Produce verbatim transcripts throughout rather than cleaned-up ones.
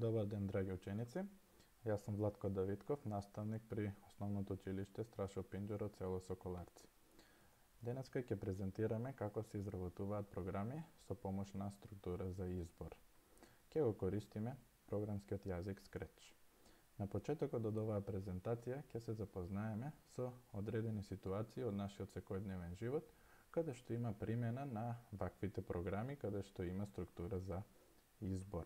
Добар ден, драги ученици. Јас сум Владко Давидков, наставник при Основното училиште Страшо Пинџуро, село Соколарци. Денеска ќе презентираме како се изработуваат програми со помош на структура за избор. Ќе го користиме програмскиот јазик Scratch. На почетокот од оваа презентација ќе се запознаеме со одредени ситуации од нашиот секојдневен живот, каде што има примена на ваквите програми, каде што има структура за избор.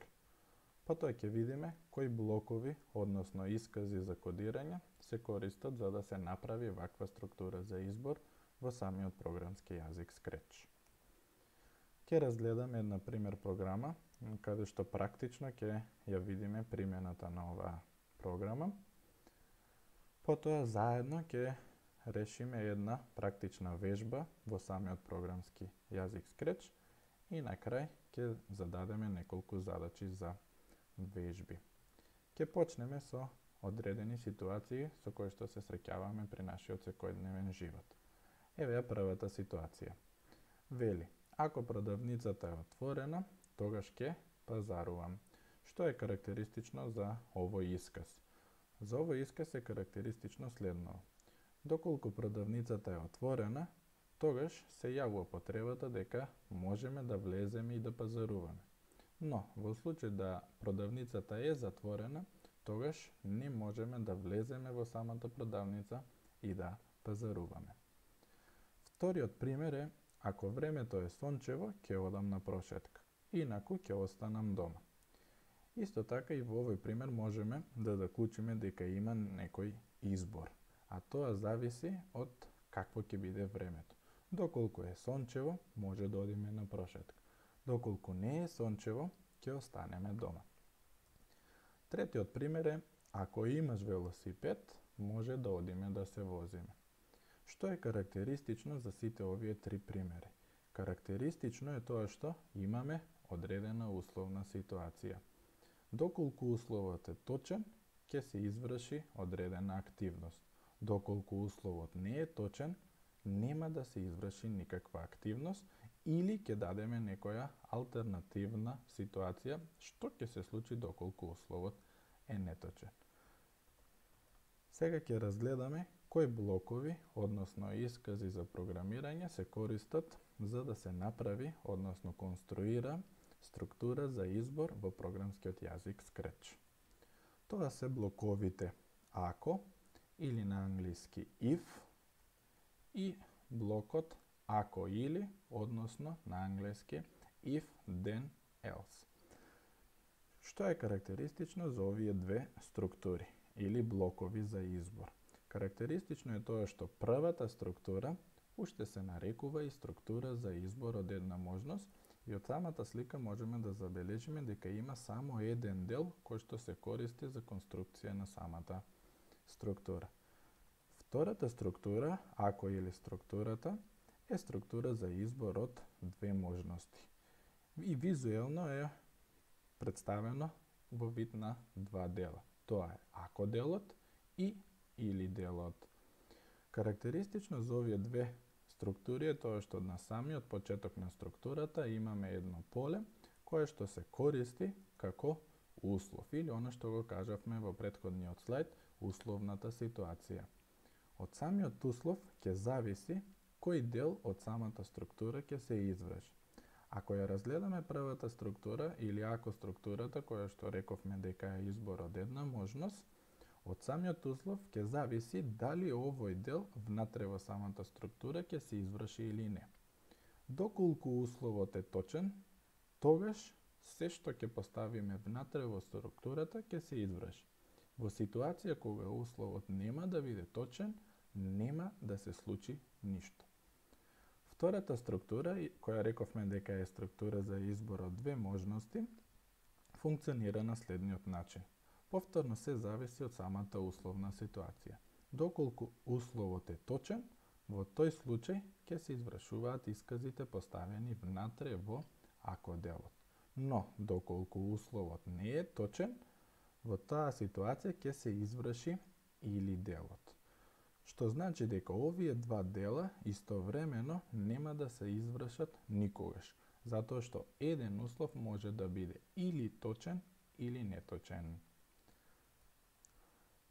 Потоа ќе видиме кои блокови, односно искази за кодирање, се користат за да се направи ваква структура за избор во самиот програмски јазик Scratch. Ќе разгледаме една пример програма, каде што практично ќе ја видиме примената на оваа програма. Потоа заедно ќе решиме една практична вежба во самиот програмски јазик Scratch и на крај ќе зададеме неколку задачи за вежби. Ќе почнеме со одредени ситуации со кои што се среќаваме при нашиот секојдневен живот. Еве ја првата ситуација. Вели, ако продавницата е отворена, тогаш ќе пазарувам. Што е карактеристично за овој исказ? За овој исказ е карактеристично следното. Доколку продавницата е отворена, тогаш се јавува потребата дека можеме да влеземе и да пазаруваме. Но, во случај да продавницата е затворена, тогаш не можеме да влеземе во самата продавница и да пазаруваме. Вториот пример е, ако времето е сончево, ќе одам на прошетка, инаку ќе останам дома. Исто така и во овој пример можеме да заклучиме дека има некој избор, а тоа зависи од какво ќе биде времето. Доколку е сончево, може да одиме на прошетка. Доколку не е сончево, ќе останеме дома. Третиот пример е, ако имаш велосипед, може да одиме да се возиме. Што е карактеристично за сите овие три примери? Карактеристично е тоа што имаме одредена условна ситуација. Доколку условот е точен, ќе се изврши одредена активност. Доколку условот не е точен, нема да се изврши никаква активност или ќе дадеме некоја алтернативна ситуација што ќе се случи доколку условот е неточен. Сега ќе разгледаме кои блокови, односно искази за програмирање се користат за да се направи, односно конструира структура за избор во програмскиот јазик Scratch. Тоа се блоковите ако или на англиски if и блокот ако или, односно на англиски if, then, else. Што е карактеристично за овие две структури или блокови за избор? Карактеристично е тоа што првата структура уште се нарекува и структура за избор од една можност и од самата слика можеме да забележиме дека има само еден дел кој што се користи за конструкција на самата структура. Втората структура, ако или структурата, е структура за избор од две можности. И визуелно е представено во вид на два дела. Тоа е ако делот и или делот. Карактеристично за овие две структури е тоа што на самиот почеток на структурата имаме едно поле кое што се користи како услов или она што го кажавме во претходниот слајд, условната ситуација. Од самиот услов ќе зависи кој дел од самата структура ќе се изврши. Ако ја разгледаме првата структура или ако структурата која што рековме дека е избор од една можност, од самиот услов ќе зависи дали овој дел внатре во самата структура ќе се изврши или не. Доколку условот е точен, тогаш се што ќе поставиме внатре во структурата ќе се изврши. Во ситуација кога условот нема да биде точен, нема да се случи ништо. Втората структура, која рековме дека е структура за избор од две можности, функционира на следниот начин. Повторно се зависи од самата условна ситуација. Доколку условот е точен, во тој случај ќе се извршуваат исказите поставени внатре во ако делот. Но, доколку условот не е точен, во таа ситуација ќе се изврши или делот. Што значи дека овие два дела истовремено нема да се извршат никогаш, затоа што еден услов може да биде или точен или неточен.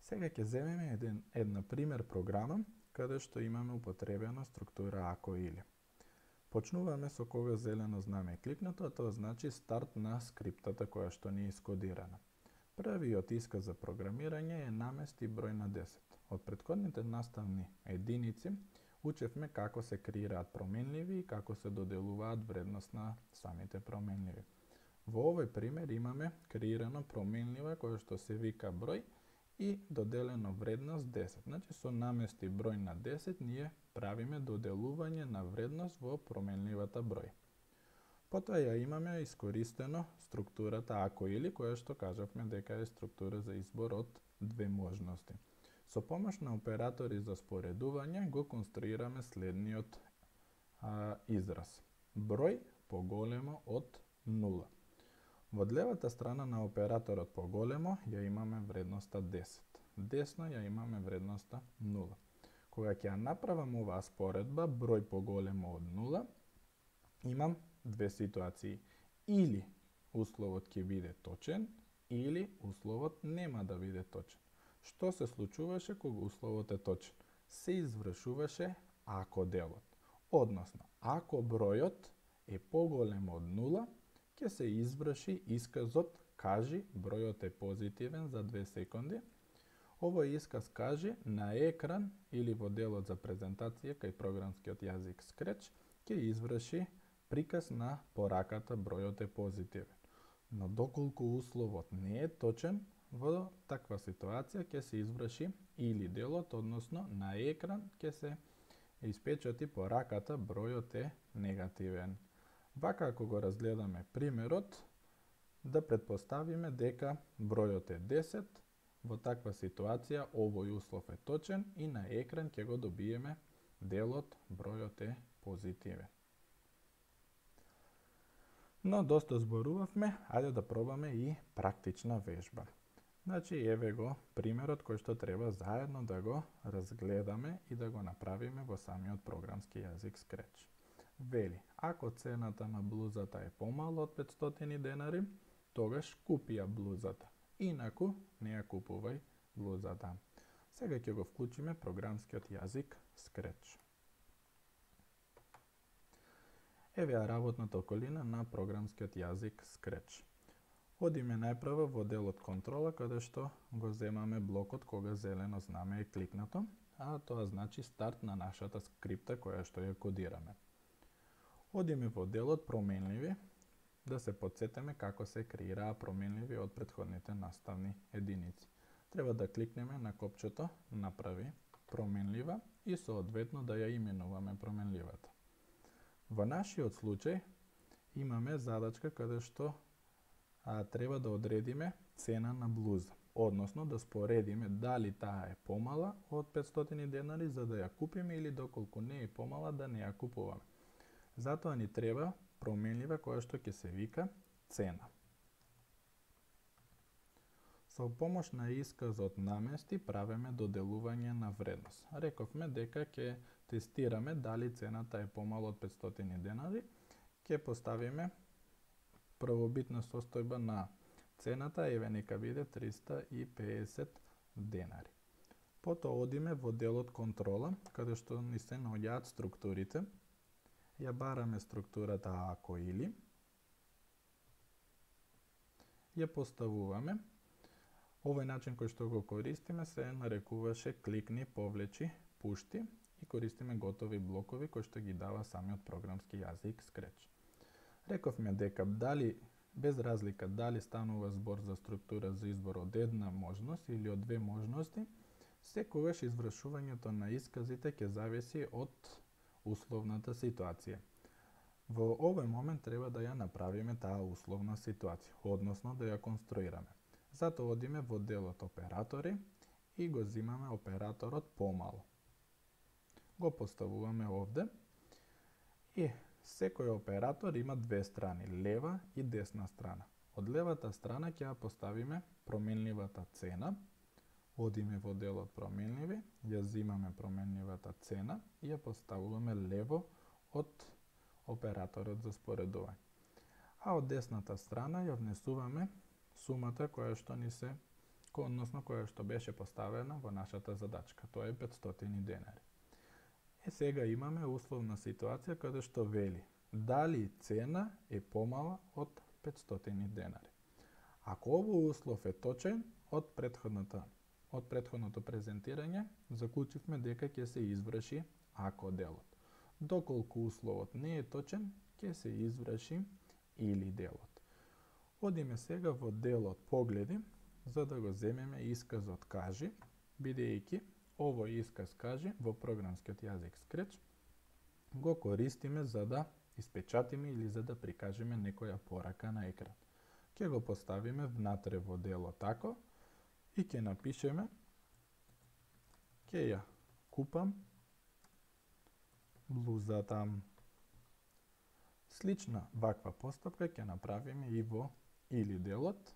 Сега ќе земеме еден, една пример програма каде што имаме употребена структура ако или. Почнуваме со кога зелено знаме е кликнато, а тоа значи старт на скриптата која што ни е искодирана. Првиот исказ за програмирање е намести број на десет. Од претходните наставни единици учевме како се креираат променливи и како се доделуваат вредност на самите променливи. Во овој пример имаме креирано променлива која што се вика број и доделено вредност десет. Значи со намести број на десет ние правиме доделување на вредност во променливата број. Потоа ја имаме искористено структурата ако или, која што кажавме дека е структура за избор од две можности. Со помош на оператори за споредување го конструираме следниот а, израз. Број поголемо од нула. Во левата страна на операторот поголемо ја имаме вредноста десет. Десно ја имаме вредноста нула. Кога ќе ја направам оваа споредба, број поголемо од нула, имам две ситуации. Или условот ќе биде точен, или условот нема да биде точен. Што се случуваше кога условот е точен? Се извршуваше ако делот. Односно, ако бројот е поголем од нула, ќе се изврши исказот кажи бројот е позитивен за две секунди. Овој исказ кажи на екран или во делот за презентација кај програмскиот јазик Scratch ќе изврши приказ на пораката бројот е позитивен. Но доколку условот не е точен, во таква ситуација ќе се изврши или делот, односно на екран ќе се испечати пораката бројот е негативен. Вака ако го разгледаме примерот, да предпоставиме дека бројот е десет, во таква ситуација овој услов е точен и на екран ќе го добиеме делот бројот е позитивен. Но доста зборувавме, ајде да пробаме и практична вежба. Значи, еве го примерот кој што треба заедно да го разгледаме и да го направиме во самиот програмски јазик Scratch. Вели, ако цената на блузата е помала од петстотини денари, тогаш купи ја блузата. Инаку, не ја купувај блузата. Сега ќе го вклучиме програмскиот јазик Scratch. Еве ја работната околина на програмскиот јазик Scratch. Одиме најпрво во делот контрола, каде што го земаме блокот кога зелено знаме е кликнато, а тоа значи старт на нашата скрипта која што ја кодираме. Одиме во делот променливи, да се потсетиме како се креираа променливи од претходните наставни единици. Треба да кликнеме на копчето направи променлива и соодветно да ја именуваме променливата. Во нашиот случај имаме задачка каде што а, треба да одредиме цена на блуза, односно да споредиме дали таа е помала од петстотини денари за да ја купиме или доколку не е помала да не ја купуваме. Затоа ни треба променлива која што ќе се вика цена. Со помош на исказот намести правиме доделување на вредност. Рековме дека ќе тестираме дали цената е помала од петстотини денари, ќе поставиме првобитна состојба на цената, еве нека биде триста и педесет денари. Потоа одиме во делот контрола, каде што ни се наоѓаат структурите. Ја бараме структурата ако или, ја поставуваме. Овој начин кој што го користиме се нарекуваше кликни, повлечи, пушти и користиме готови блокови кои што ги дава самиот програмски јазик Scratch. Рековме дека дали, без разлика дали станува збор за структура за избор од една можност или од две можности, секогаш извршувањето на исказите ќе зависи од условната ситуација. Во овој момент треба да ја направиме таа условна ситуација, односно да ја конструираме. Затоа одиме во делот оператори и го земаме операторот помало. Го поставуваме овде и секој оператор има две страни, лева и десна страна. Од левата страна ќе ја поставиме променливата цена. Одиме во делот променливи, ја земаме променливата цена и ја поставуваме лево од операторот за споредување. А од десната страна ја внесуваме сумата која што ни се, односно која што беше поставена во нашата задачка. Тоа е петстотини денари. Е, сега имаме условна ситуација каде што вели дали цена е помала од петстотини денари. Ако овој услов е точен, од претходната од претходното презентирање заклучивме дека ќе се изврши ако делот. Доколку условот не е точен, ќе се изврши или делот. Одиме сега во делот погледи, за да го земеме исказот кажи, бидејќи овој исказ кажи во програмскиот јазик Scratch го користиме за да испечатиме или за да прикажеме некоја порака на екран. Ќе го поставиме внатре во делот тако и ќе напишеме ќе ја купам блузата. Слична ваква постапка ќе направиме и во или делот,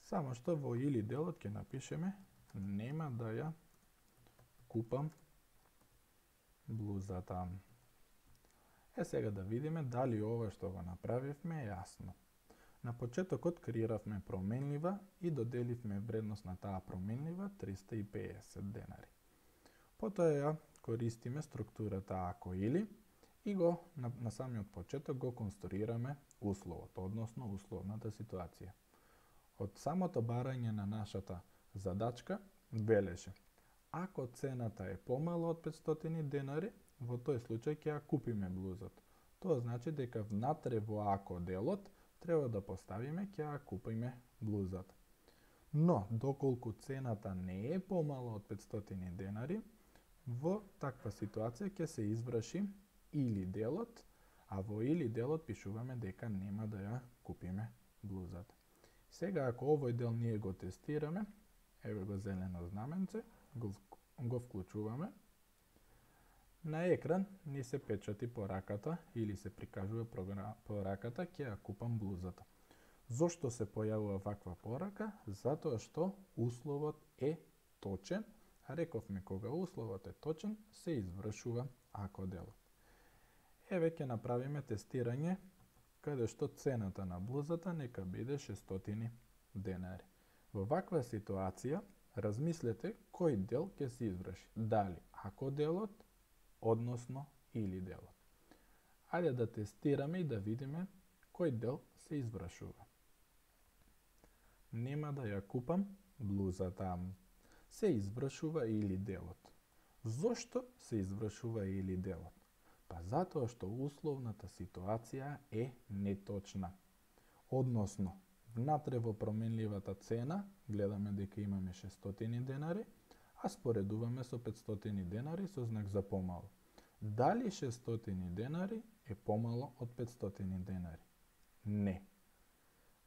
само што во или делот ќе напишеме нема да ја купам блузата. Е, сега да видиме дали ова што го направивме е јасно. На почетокот креиравме променлива и доделивме вредност на таа променлива триста и педесет денари. Потоа ја користиме структурата ако или и го на, на самиот почеток го конструираме условот, односно условната ситуација. Од самото барање на нашата задачка велеше ако цената е помала од петстотини денари, во тој случај ќе ја купиме блузата. Тоа значи дека внатре во ако делот треба да поставиме ќе ја купиме блузата. Но, доколку цената не е помала од петстотини денари, во таква ситуација ќе се изврши или делот, а во или делот пишуваме дека нема да ја купиме блузата. Сега, ако овој дел ние го тестираме, еве го зелено знаменце, го, го вклучуваме, на екран ни се печати пораката или се прикажува пораката ќе ја купам блузата. Зошто се појавува ваква порака? Затоа што условот е точен, а рековме кога условот е точен, се извршува ако делот. Еве ќе направиме тестирање каде што цената на блузата нека биде шестстотини денари. Во ваква ситуација размислете кој дел ќе се изврши. Дали ако делот, односно или делот. Ајде да тестираме и да видиме кој дел се извршува. Нема да ја купам блузата. Се извршува или делот. Зошто се извршува или делот? Па затоа што условната ситуација е неточна. Односно, внатре во променливата цена гледаме дека имаме шестстотини денари, а споредуваме со петстотини денари со знак за помало. Дали шестстотини денари е помало од петстотини денари? Не.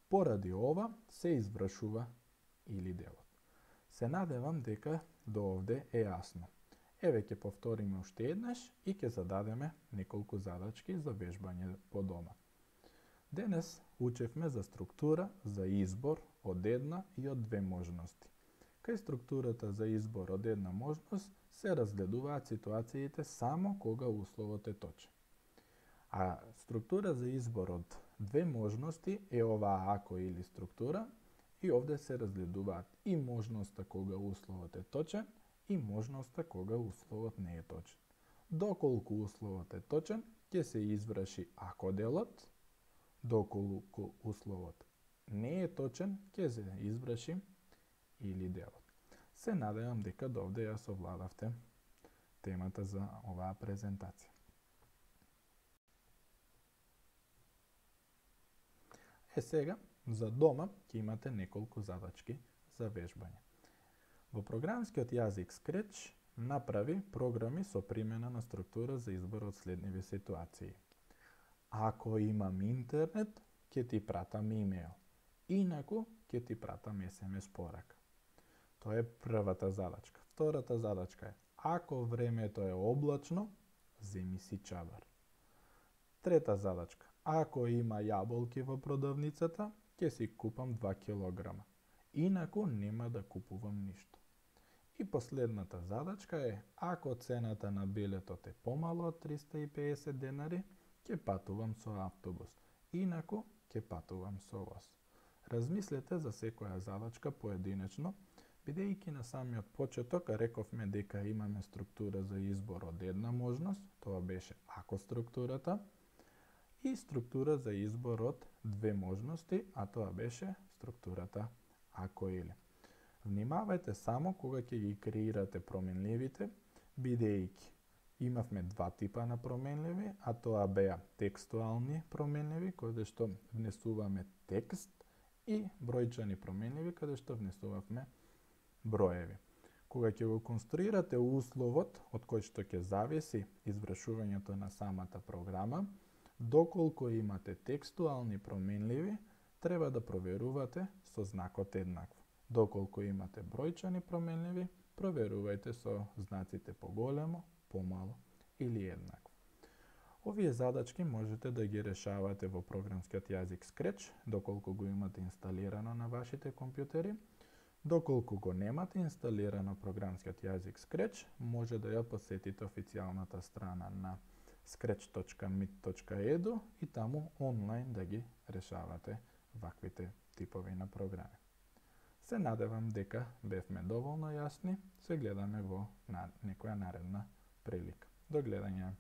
Поради ова се извршува или делот. Се надевам дека до овде е јасно. Еве ќе повториме уште еднаш и ќе зададеме неколку задачки за вежбање по дома. Денес учевме за структура за избор од една и од две можности. Кај структурата за избор од една можност се разгледуваат ситуациите само кога условот е точен. А структура за избор од две можности е оваа ако или структура и овде се разгледуваат и можноста кога условот е точен и можноста кога условот не е точен. Доколку условот е точен, ќе се изврши ако делот, доколку условот не е точен, ќе се изврши или делот. Се надевам дека до овде ја совладавте темата за оваа презентација. Е сега, за дома ќе имате неколку задачки за вежбање. Во програмскиот јазик Scratch направи програми со примена на структура за избор од следниви ситуации. Ако имам интернет, ќе ти пратам имејл. Инаку, ќе ти пратам ес ем ес порака. Тоа е првата задачка. Втората задачка е, ако времето е облачно, земи си чадар. Трета задачка, ако има јаболки во продавницата, ќе си купам два килограма. Инаку нема да купувам ништо. И последната задачка е, ако цената на билетот е помало од триста и педесет денари, ќе патувам со автобус. Инаку, ќе патувам со воз. Размислете за секоја задачка поединечно, бидејќи на самиот почеток рековме дека имаме структура за избор од една можност, тоа беше ако структурата, и структура за избор од две можности, а тоа беше структурата ако или. Внимавајте само кога ќе ги креирате променливите, бидејќи имавме два типа на променливи, а тоа беа текстуални променливи, каде што внесуваме текст, и бројчани променливи, каде што внесувавме броеви. Кога ќе го конструирате условот од кој што ќе зависи извршувањето на самата програма, доколку имате текстуални променливи, треба да проверувате со знакот еднакво. Доколку имате бројчани променливи, проверувајте со знаците поголемо, помало или еднакво. Овие задачки можете да ги решавате во програмскиот јазик Scratch, доколку го имате инсталирано на вашите компјутери. Доколку го немате инсталирано програмскиот јазик Scratch, може да ја посетите официјалната страна на scratch точка mit точка edu и таму онлайн да ги решавате ваквите типови на програми. Се надевам дека бевме доволно јасни, се гледаме во некоја наредна прилика. До гледање!